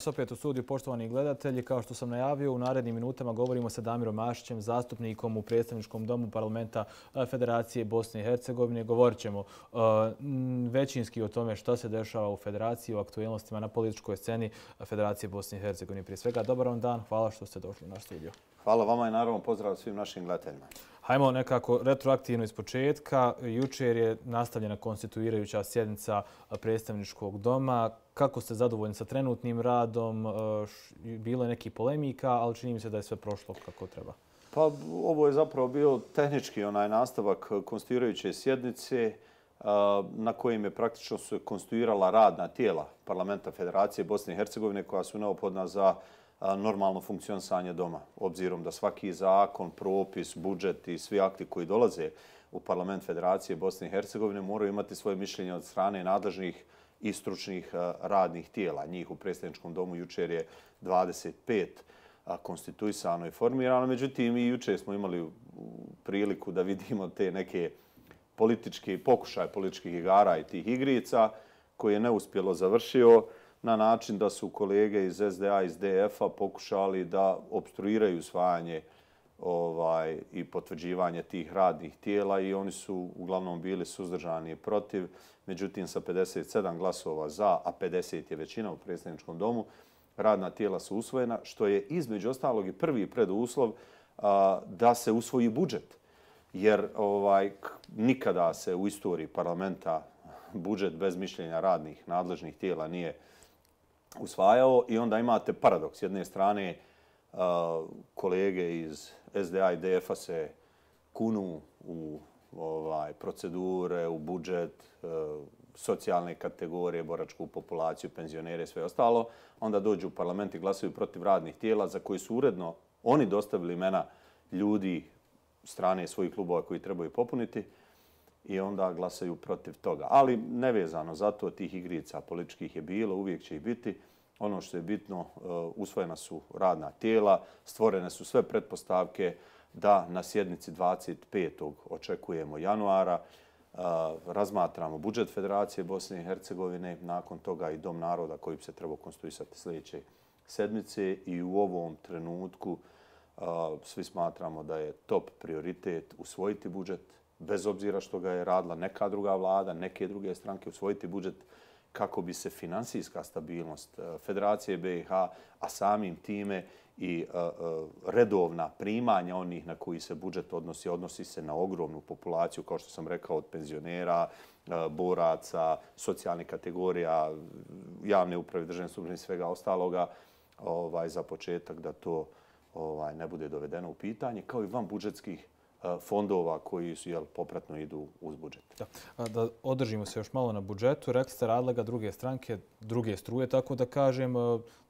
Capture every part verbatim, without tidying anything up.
Opet u studiju, poštovani gledatelji, kao što sam najavio, u narednim minutama govorimo sa Damirom Mašićem, zastupnikom u predstavničkom domu parlamenta Federacije Bosne i Hercegovine. Govorit ćemo većinski o tome što se dešava u Federaciji, o aktualnostima na političkoj sceni Federacije Bosne i Hercegovine. Prije svega, dobar vam dan, hvala što ste došli u naš studio. Hvala vama i naravno pozdrav svim našim gledateljima. Hajmo nekako retroaktivno iz početka. Jučer je nastavljena konstituirajuća sjednica predstavničkog doma. Kako ste zadovoljni sa trenutnim radom? Bilo je nekih polemika, ali čini mi se da je sve prošlo kako treba. Pa ovo je zapravo bio tehnički onaj nastavak konstituirajuće sjednice na kojim je praktično se konstituirala radna tijela Parlamenta Federacije Bosne i Hercegovine koja su neophodna za normalno funkcionisanje doma. Obzirom da svaki zakon, propis, budžet i svi akti koji dolaze u Parlament Federacije Bosne i Hercegovine moraju imati svoje mišljenje od strane nadležnih i stručnih radnih tijela. Njih u predstavničkom domu jučer je dvadeset pet konstituisano i formirano. Međutim, i jučer smo imali priliku da vidimo te neke političke pokušaje političkih igara i tih igrica koje je neuspjelo završio na način da su kolege iz S D A i iz D F-a pokušali da opstruiraju usvajanje ovaj, i potvrđivanje tih radnih tijela i oni su uglavnom bili suzdržani i protiv. Međutim, sa pedeset sedam glasova za, a pedeset je većina u predstavničkom domu, radna tijela su usvojena, što je između ostalog i prvi preduslov a, da se usvoji budžet. Jer ovaj, nikada se u istoriji parlamenta budžet bez mišljenja radnih nadležnih tijela nije usvajao i onda imate paradoks. S jedne strane kolege iz S D A i D F-a se kunu u ovaj, procedure, u budžet, socijalne kategorije, boračku populaciju, penzionere i sve ostalo. Onda dođu u parlament i glasaju protiv radnih tijela za koji su uredno oni dostavili imena ljudi strane svojih klubova koji trebaju popuniti i onda glasaju protiv toga. Ali nevezano za to, tih igrica političkih je bilo, uvijek će ih biti. Ono što je bitno, usvojena su radna tijela, stvorene su sve pretpostavke da na sjednici dvadeset petog očekujemo januara, razmatramo budžet Federacije Bosne i Hercegovine, nakon toga i Dom naroda koji bi se trebao konstituisati sljedeće sedmice i u ovom trenutku svi smatramo da je top prioritet usvojiti budžet, bez obzira što ga je radila neka druga vlada, neke druge stranke, usvojiti budžet kako bi se finansijska stabilnost Federacije B i H, a samim time i redovna primanja onih na koji se budžet odnosi, odnosi se na ogromnu populaciju, kao što sam rekao, od penzionera, boraca, socijalnih kategorija, javne uprave, državne službe i svega ostaloga, ovaj, za početak da to ovaj, ne bude dovedeno u pitanje, kao i van budžetskih fondova koji su, jel, popratno idu uz budžet. Da, da održimo se još malo na budžetu. Rekli ste radile ga druge stranke, druge struje, tako da kažem,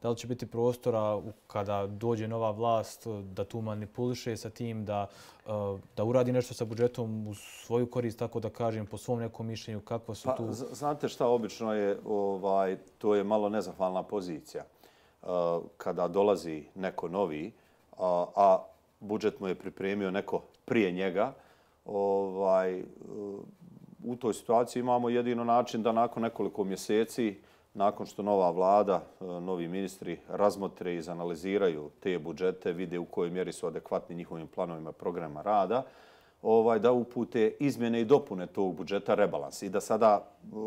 da li će biti prostora kada dođe nova vlast da tu manipuliše sa tim, da, da uradi nešto sa budžetom u svoju korist, tako da kažem, po svom nekom mišljenju, kakva su tu... Pa, znate šta, obično je, ovaj, to je malo nezahvalna pozicija. Kada dolazi neko novi, a, a budžet mu je pripremio neko prije njega, ovaj, u toj situaciji imamo jedino način da nakon nekoliko mjeseci, nakon što nova vlada, novi ministri razmotre i izanaliziraju te budžete, vide u kojoj mjeri su adekvatni njihovim planovima programa rada, ovaj, da upute izmjene i dopune tog budžeta, rebalans. I da sada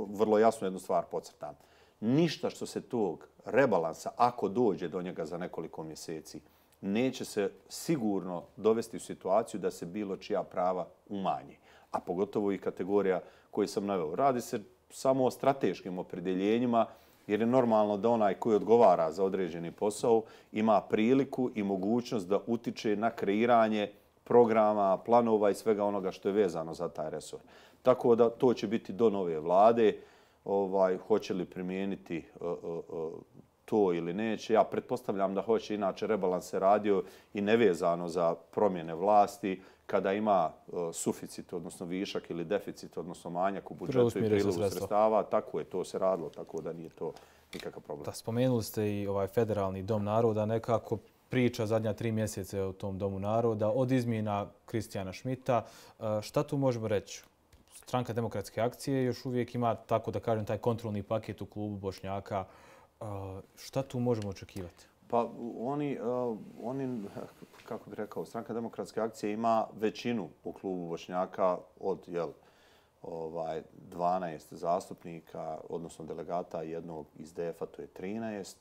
vrlo jasno jednu stvar podcrtam. Ništa što se tog rebalansa, ako dođe do njega za nekoliko mjeseci, neće se sigurno dovesti u situaciju da se bilo čija prava umanje. A pogotovo i kategorija koju sam naveo. Radi se samo o strateškim opredjeljenjima, jer je normalno da onaj koji odgovara za određeni posao ima priliku i mogućnost da utiče na kreiranje programa, planova i svega onoga što je vezano za taj resor. Tako da to će biti do nove vlade. Ovaj, hoće li primijeniti uh, uh, to ili neće. Ja pretpostavljam da hoće, inače rebalans se radio i nevezano za promjene vlasti, kada ima uh, suficit, odnosno višak ili deficit, odnosno manjak u budžetu i prilivu sredstava. Tako je, to se radilo, tako da nije to nikakav problem. Da, spomenuli ste i ovaj federalni dom naroda, nekako priča zadnja tri mjeseca o tom domu naroda, od izmjena Kristijana Šmita. Šta tu možemo reći? Stranka demokratske akcije još uvijek ima, tako da kažem, taj kontrolni paket u klubu Bošnjaka. Šta tu možemo očekivati? Pa oni, oni, kako bih rekao, Stranka demokratske akcije ima većinu u klubu Bošnjaka od jel, ovaj, dvanaest zastupnika, odnosno delegata jednog iz D F-a, to je trinaest.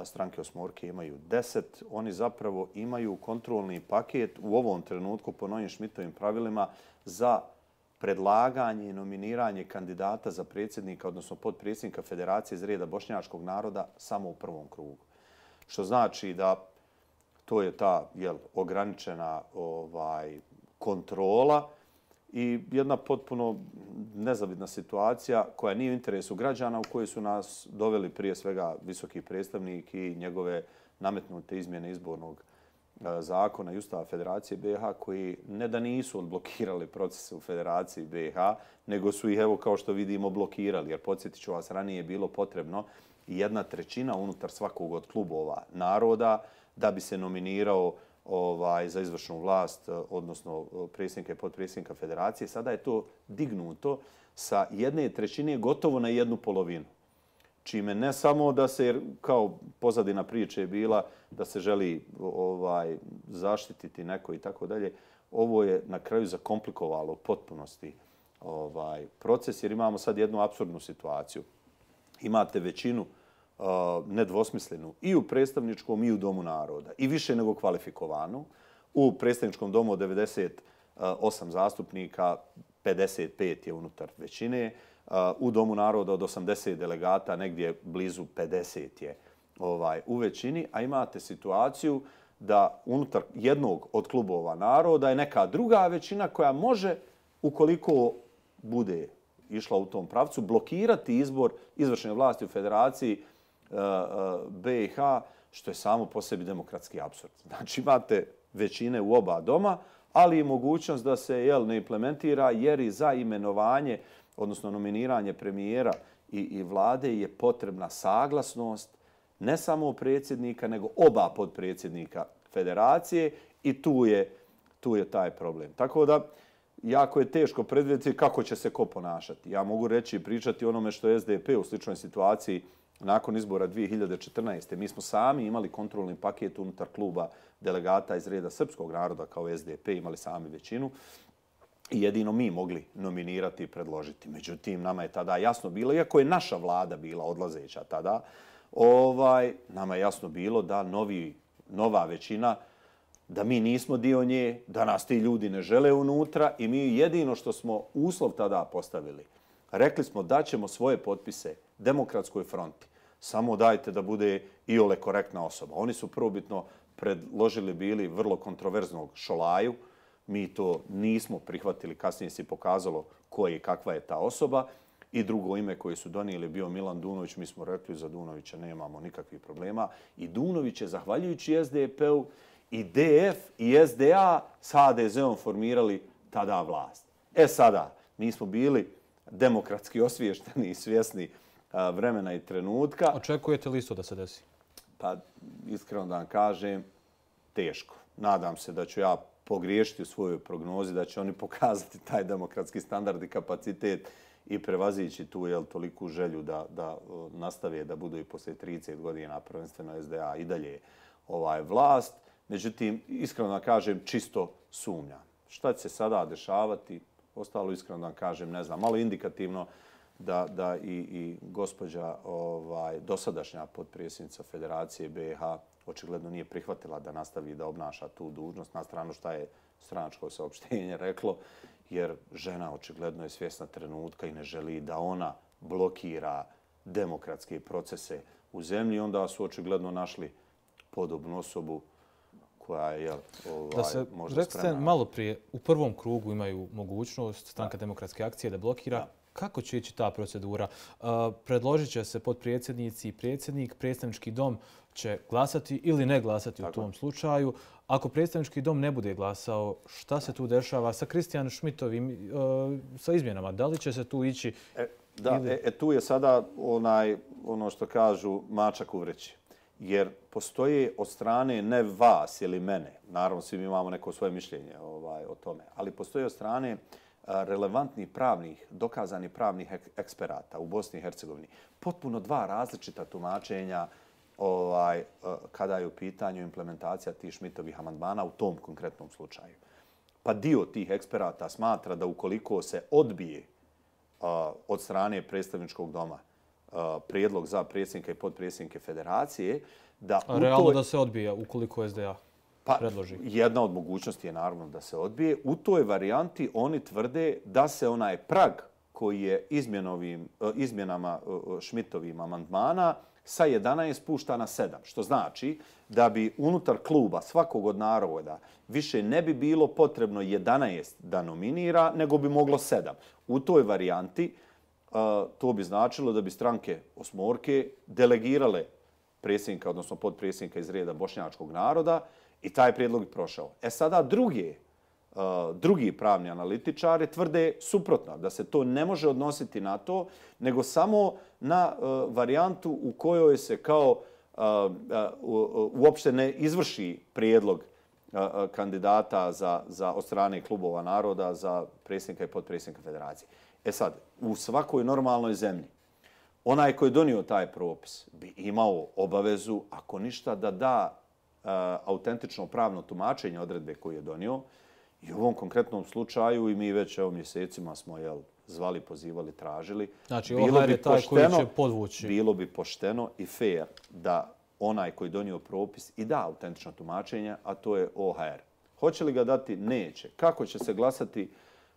Stranke osmorke imaju deset. Oni zapravo imaju kontrolni paket u ovom trenutku po novim Šmitovim pravilima za predlaganje i nominiranje kandidata za predsjednika, odnosno podpredsjednika Federacije iz reda bošnjačkog naroda samo u prvom krugu. Što znači da to je ta jel, ograničena ovaj, kontrola i jedna potpuno nezavidna situacija koja nije u interesu građana u kojoj su nas doveli prije svega visoki predstavnik i njegove nametnute izmjene izbornog zakona i Ustava Federacije B i H koji ne da nisu odblokirali procese u Federaciji B i H, nego su ih, evo kao što vidimo, blokirali. Jer podsjetit ću vas, ranije je bilo potrebno jedna trećina unutar svakog od klubova naroda da bi se nominirao ovaj, za izvršnu vlast, odnosno predsjednika i podpredsjednika Federacije. Sada je to dignuto sa jedne trećine gotovo na jednu polovinu. Čime ne samo da se, kao pozadina priče je bila, da se želi ovaj, zaštititi neko i tako dalje, ovo je na kraju zakomplikovalo u potpunosti ovaj, proces, jer imamo sad jednu apsurdnu situaciju. Imate većinu uh, nedvosmislenu i u predstavničkom i u Domu naroda i više nego kvalifikovanu. U predstavničkom domu od devedeset osam zastupnika, pedeset pet je unutar većine. U Domu naroda od osamdeset delegata, negdje blizu pedeset je ovaj, u većini, a imate situaciju da unutar jednog od klubova naroda je neka druga većina koja može, ukoliko bude išla u tom pravcu, blokirati izbor izvršne vlasti u Federaciji B i H, što je samo po sebi demokratski apsurd. Znači imate većine u oba doma, ali i mogućnost da se jel, ne implementira jer i za imenovanje, odnosno nominiranje premijera i, i vlade je potrebna saglasnost ne samo predsjednika, nego oba podpredsjednika Federacije i tu je, tu je taj problem. Tako da, jako je teško predvidjeti kako će se ko ponašati. Ja mogu reći i pričati onome što je S D P u sličnoj situaciji nakon izbora dvije hiljade četrnaeste. Mi smo sami imali kontrolni paket unutar kluba delegata iz reda srpskog naroda kao S D P, imali sami većinu i jedino mi mogli nominirati i predložiti. Međutim, nama je tada jasno bilo, iako je naša vlada bila odlazeća tada, ovaj, nama je jasno bilo da novi, nova većina, da mi nismo dio nje, da nas ti ljudi ne žele unutra i mi jedino što smo uslov tada postavili, rekli smo da ćemo svoje potpise Demokratskoj fronti. Samo dajte da bude iole korektna osoba. Oni su prvobitno predložili bili vrlo kontroverznog Šolaju. Mi to nismo prihvatili. Kasnije se pokazalo ko je i kakva je ta osoba. I drugo ime koje su donijeli bio Milan Dunović. Mi smo rekli za Dunovića nemamo nikakvih problema. I Dunović je, zahvaljujući S D P-u, i D F i S D A s H D Z-om formirali tada vlast. E sada, mi smo bili demokratski osviješteni i svjesni vremena i trenutka. Očekujete li isto da se desi? Pa, iskreno da vam kažem, teško. Nadam se da ću ja pogriješiti u svojoj prognozi, da će oni pokazati taj demokratski standard i kapacitet i prevazići tu jel, toliku želju da, da nastave da budu i poslije trideset godina prvenstveno S D A i dalje ovaj vlast. Međutim, iskreno da kažem, čisto sumnjam. Šta će se sada dešavati? Ostalo, iskreno da kažem, ne znam, malo indikativno da, da i, i gospođa ovaj, dosadašnja podpredsjednica Federacije B i H očigledno nije prihvatila da nastavi da obnaša tu dužnost, na stranu šta je stranačko saopštenje reklo, jer žena očigledno je svjesna trenutka i ne želi da ona blokira demokratske procese u zemlji. Onda su očigledno našli podobnu osobu koja je ovaj, da se, možda rekli spremna. ste malo prije, u prvom krugu imaju mogućnost Stranka demokratske akcije da blokira. Da. Kako će ići ta procedura? Uh, predložit će se podpredsjednici i predsjednik, predstavnički dom će glasati ili ne glasati Tako. u tom slučaju. Ako predstavnički dom ne bude glasao, šta se tu dešava sa Kristijan Šmitovim, uh, sa izmjenama? Da li će se tu ići? E, da, ili... e, e, tu je sada onaj, ono što kažu mačak u vreći. Jer postoje od strane ne vas ili mene, naravno svi mi imamo neko svoje mišljenje ovaj, o tome, ali postoje od strane uh, relevantnih pravnih, dokazanih pravnih eksperata u Bosni i Hercegovini. Potpuno dva različita tumačenja ovaj, kada je u pitanju implementacija tih Šmitovih amandmana u tom konkretnom slučaju. Pa dio tih eksperata smatra da ukoliko se odbije od strane predstavničkog doma prijedlog za predsjednika i potpredsjednike federacije, da A realno toj... da se odbije ukoliko S D A pa, predloži? Jedna od mogućnosti je naravno da se odbije. U toj varijanti oni tvrde da se onaj prag koji je izmjenovim, izmjenama Šmitovim amandmana sa jedanaest spušta na sedam. Što znači da bi unutar kluba svakog od naroda više ne bi bilo potrebno jedanaest da nominira, nego bi moglo sedam. U toj varijanti to bi značilo da bi stranke osmorke delegirale predsjednika, odnosno podpredsjednika iz reda bošnjačkog naroda i taj prijedlog bi prošao. E sada drugi, drugi pravni analitičari tvrde suprotno, da se to ne može odnositi na to, nego samo na varijantu u kojoj se kao uopšte ne izvrši prijedlog kandidata za, za od strane klubova naroda za predsjednika i podpredsjednika federacije. E sad, u svakoj normalnoj zemlji, onaj koji je donio taj propis bi imao obavezu, ako ništa, da da uh, autentično pravno tumačenje odredbe koju je donio. I u ovom konkretnom slučaju, i mi već evo mjesecima smo jel, zvali, pozivali, tražili. Znači, O H R je taj koji će podvući. Bilo bi pošteno i fair da onaj koji je donio propis i da autentično tumačenje, a to je O H R. Hoće li ga dati? Neće. Kako će se glasati?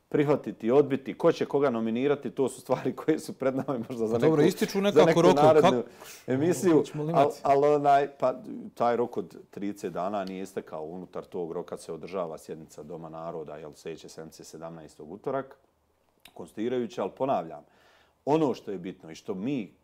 Prihvatiti, odbiti, ko će koga nominirati, to su stvari koje su pred nama možda za neku, dobro, ističu nekako za neku roku. narednu Kak... emisiju. Ali al onaj, pa, taj rok od trideset dana nije istekao. Unutar tog roka se održava sjednica Doma naroda, jel sljedeće sedmice sedamnaestog utorak, konstituirajuća, ali ponavljam, ono što je bitno i što mi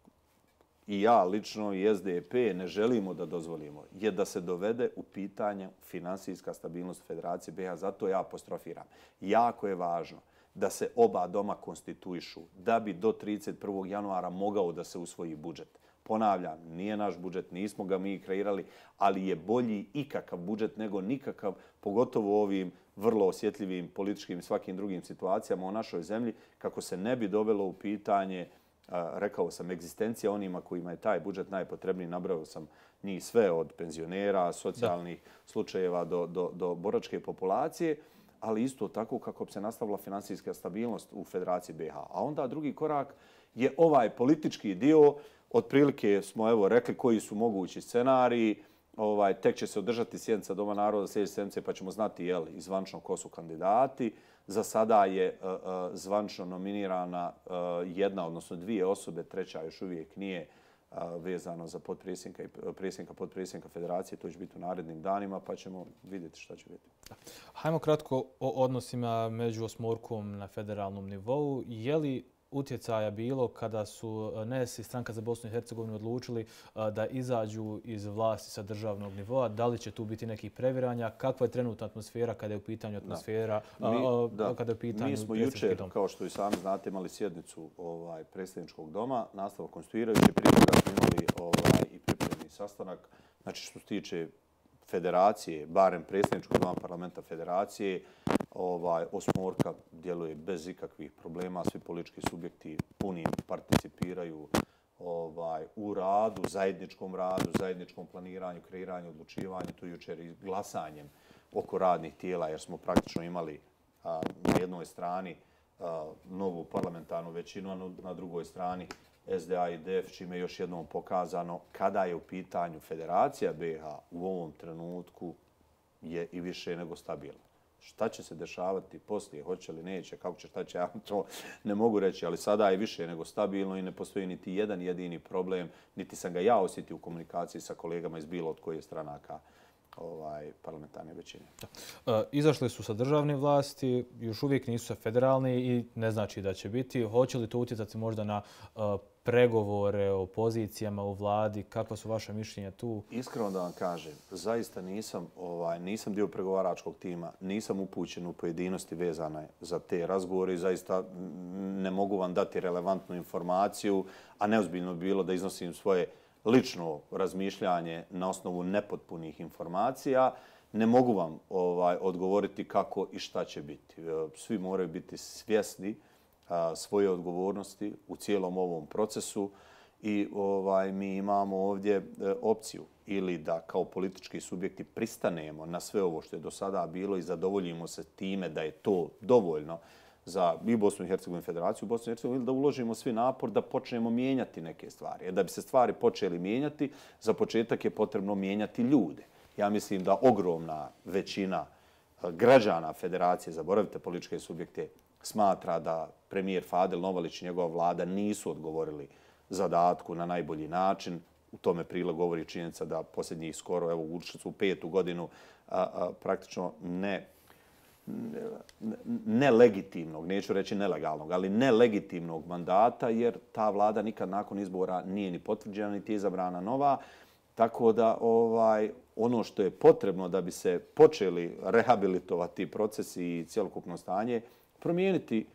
i ja lično i S D P ne želimo da dozvolimo je da se dovede u pitanje finansijska stabilnost Federacije B iH. Zato ja apostrofiram. Jako je važno da se oba doma konstituišu da bi do trideset prvog januara mogao da se usvoji budžet. Ponavljam, nije naš budžet, nismo ga mi kreirali, ali je bolji ikakav budžet nego nikakav, pogotovo u ovim vrlo osjetljivim političkim i svakim drugim situacijama u našoj zemlji, kako se ne bi dovelo u pitanje, rekao sam, egzistencija onima kojima je taj budžet najpotrebniji. Nabrao sam njih sve od penzionera, socijalnih da. slučajeva do, do, do boračke populacije, ali isto tako kako bi se nastavila finansijska stabilnost u Federaciji B iH. A onda drugi korak je ovaj politički dio. Otprilike smo evo rekli koji su mogući scenariji. Ovaj, tek će se održati sjednica Doma naroda sljedeće sedmice pa ćemo znati jel, izvančno ko su kandidati. Za sada je uh, uh, zvančno nominirana uh, jedna, odnosno dvije osobe, treća još uvijek nije uh, vezano za podpredsjednika i predsjednika podpredsjednika Federacije. To će biti u narednim danima pa ćemo vidjeti šta će biti. Hajmo kratko o odnosima među osmorkom na federalnom nivou. Je li utjecaja bilo kada su N E S i Stranka za Bosnu i Hercegovinu odlučili da izađu iz vlasti sa državnog nivoa? Da li će tu biti nekih previranja? Kakva je trenutna atmosfera kada je u pitanju atmosfera? Da. Mi, a, kada je u pitanju mi smo jučer, kao što i sami znate, imali sjednicu ovaj, predsjedničkog doma, nastavak konstituirajući. Prije toga smo imali ovaj, i pripremni sastanak. Znači, što se tiče Federacije, barem predsjedničkog doma parlamenta Federacije, ovaj, osmorka djeluje bez ikakvih problema. Svi politički subjekti punim participiraju ovaj, u radu, zajedničkom radu, zajedničkom planiranju, kreiranju, odlučivanju. Tu jučer i glasanjem oko radnih tijela, jer smo praktično imali a, na jednoj strani a, novu parlamentarnu većinu, a na drugoj strani S D A i D F, čime je još jednom pokazano kada je u pitanju Federacija B iH u ovom trenutku je i više nego stabilna. Šta će se dešavati poslije, hoće li, neće, kako će, šta će, ja to ne mogu reći, ali sada je više nego stabilno i ne postoji niti jedan jedini problem, niti sam ga ja osjetio u komunikaciji sa kolegama iz bilo od koje stranaka ovaj, parlamentarne većine. Da. E, izašli su sa državne vlasti, još uvijek nisu sa federalni i ne znači da će biti. Hoće li to utjecati možda na uh, pregovore o pozicijama u vladi? Kakva su vaša mišljenja tu? Iskreno da vam kažem, zaista nisam, ovaj, nisam dio pregovaračkog tima, nisam upućen u pojedinosti vezane za te razgovore i zaista ne mogu vam dati relevantnu informaciju, a neozbiljno bi bilo da iznosim svoje lično razmišljanje na osnovu nepotpunih informacija. ne mogu vam ovaj, odgovoriti kako i šta će biti. Svi moraju biti svjesni a, svoje odgovornosti u cijelom ovom procesu i ovaj, mi imamo ovdje e, opciju ili da kao politički subjekti pristanemo na sve ovo što je do sada bilo i zadovoljimo se time da je to dovoljno za i Bosnu i Hercegovinu, Federaciju Bosnu i Hercegovinu, ili da uložimo svi napor da počnemo mijenjati neke stvari. Jer da bi se stvari počeli mijenjati, za početak je potrebno mijenjati ljude. Ja mislim da ogromna većina građana Federacije, zaboravite političke subjekte, smatra da premijer Fadil Novalić i njegova vlada nisu odgovorili zadatku na najbolji način. U tome prilog govori činjenica da posljednjih skoro, evo, ušli su u petu godinu a, a, praktično ne nelegitimnog, neću reći nelegalnog, ali nelegitimnog mandata, jer ta vlada nikad nakon izbora nije ni potvrđena, niti je izabrana nova. Tako da ovaj, ono što je potrebno da bi se počeli rehabilitovati procesi i cjelokupno stanje, promijeniti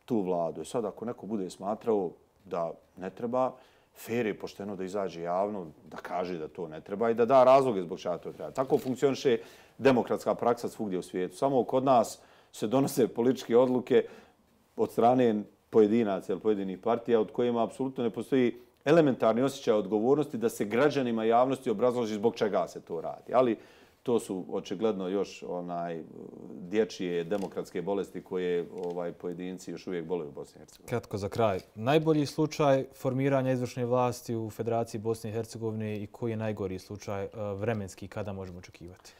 tu vladu. I sad ako neko bude smatrao da ne treba, fair je pošteno da izađe javno, da kaže da to ne treba i da da razloge zbog čega to treba. Tako funkcioniše demokratska praksa svugdje u svijetu. Samo kod nas se donose političke odluke od strane pojedinaca ili pojedinih partija od kojima apsolutno ne postoji elementarni osjećaj odgovornosti da se građanima javnosti obrazloži zbog čega se to radi. Ali to su očigledno još onaj dječje demokratske bolesti koje ovaj pojedinci još uvijek boluju u Bosni i Hercegovini. Kratko za kraj. Najbolji slučaj formiranja izvršne vlasti u Federaciji Bosne i Hercegovine i koji je najgori slučaj vremenski kada možemo očekivati?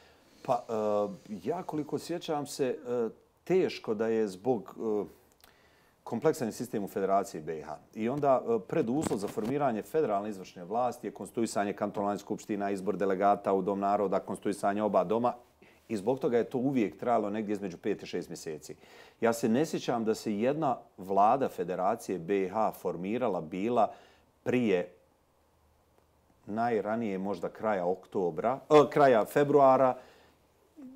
Pa ja koliko sjećam se, teško da je zbog kompleksan sistem u Federaciji B i H. I onda preduslov za formiranje federalne izvršne vlasti je konstituisanje kantonalnih skupština, izbor delegata u Dom naroda, konstituisanje oba doma. I zbog toga je to uvijek trajalo negdje između pet i šest mjeseci. Ja se ne sjećam da se jedna vlada Federacije B i H formirala bila prije najranije možda kraja oktobra, eh, kraja februara.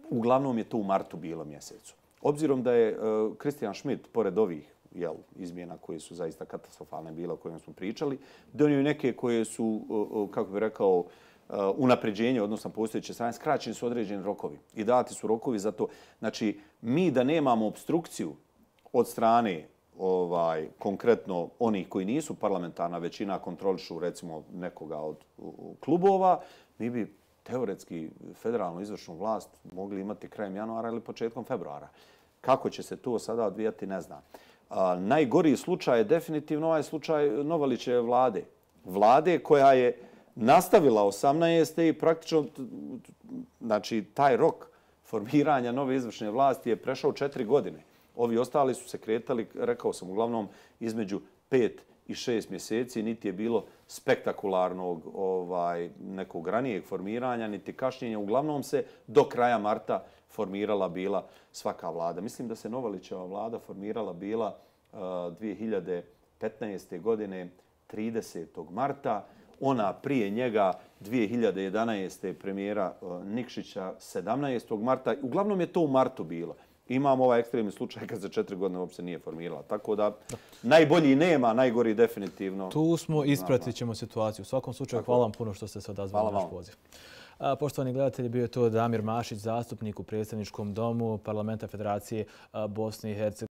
Uglavnom je to u martu bilo mjesecu. Obzirom da je Kristijan uh, Schmidt, pored ovih jel, izmjena koje su zaista katastrofalne bile o kojima smo pričali, donio neke koje su, uh, kako bih rekao, uh, unapređenje, odnosno postojeće strane, skraćeni su određeni rokovi i dati su rokovi za to. Znači, mi da nemamo obstrukciju od strane ovaj, konkretno onih koji nisu parlamentarna većina, kontrolišu recimo nekoga od uh, klubova, mi bi teoretski federalnu izvršnu vlast mogli imati krajem januara ili početkom februara. Kako će se to sada odvijati, ne znam. A, najgoriji slučaj je definitivno ovaj slučaj Novalićeve vlade. Vlade koja je nastavila osamnaeste i praktično znači, taj rok formiranja nove izvršne vlasti je prešao četiri godine. Ovi ostali su se kretali, rekao sam, uglavnom između pet i šest mjeseci, niti je bilo spektakularnog ovaj, nekog ranijeg formiranja, niti kašnjenja. Uglavnom se do kraja marta formirala bila svaka vlada. Mislim da se Novalićeva vlada formirala bila uh, dvije hiljade petnaeste. godine tridesetog marta. Ona prije njega dvije hiljade jedanaeste. premijera uh, Nikšića sedamnaestog marta. Uglavnom je to u martu bilo. Imamo ovaj ekstremni slučaj kad za četiri godine uopće nije formirala. Tako da najbolji nema, najgori definitivno. Tu smo, ispratit ćemo situaciju. U svakom slučaju, hvala vam puno što ste se odazvali na naš poziv. Poštovani gledatelji, bio je to Damir Mašić, zastupnik u Predstavničkom domu Parlamenta Federacije Bosne i Hercegovine.